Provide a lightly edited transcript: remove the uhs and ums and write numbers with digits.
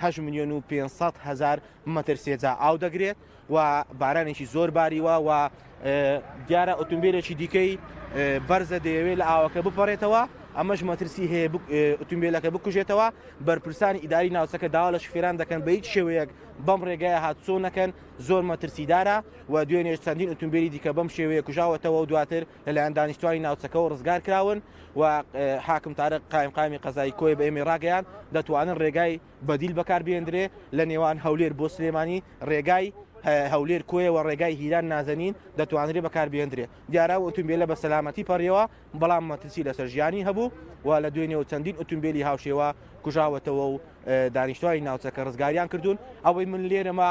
8 ملیۆن و 500 هەزار مەتر سێجا ئاو دەگرێت و بارانێکی زۆر باریوە و دیارە ئۆتومبیلێکی دیکەی بەرزە دەیەوێت لە ئاوەکە بپەڕێتەوە، ئەمەش مەترسی هەیە ئۆتومبیلەکە بکوژێتەوە. بەرپرسانی ئیداری ناوچەکە داوا لە شوفێران دەکەن بە هیچ شێوەیەک بەم ڕێگایە هاتوچۆ نەکەن، زۆر مەترسیدارە و دوێنێش چەندین ئۆتومبیلی دیکە بەم شێوەیە کوژاوەتەوە و دواتر لەلایەن دانیشتوانی ناوچەکەوە ڕزگار کراون و حاکم تارق قایمقامی قەزای کۆیە بە ئێمەی ڕاگەیاند دەتوانن ڕێگای بەدیل بەکاربهێندرێ لە نێوان هەولێر بۆ سلێمانی، ڕێگای هەولێر کۆیە و ڕێگای هیران نازەنین دەتوانرێ بەکاربهێندرێ. دیارە ئەو ئۆتۆمبیلە بە سەلامەتی پەڕیەوە، بەڵام مەترسی لەسەر ژیانی هەبوو و لە دوێنێوە چەندین ئۆتۆمبیلی هاوشێوە کوژاوەتەوە و دانیشتوانی ناوچەکە ڕزگاریان کردوون. ئەوەی من لێرەمە.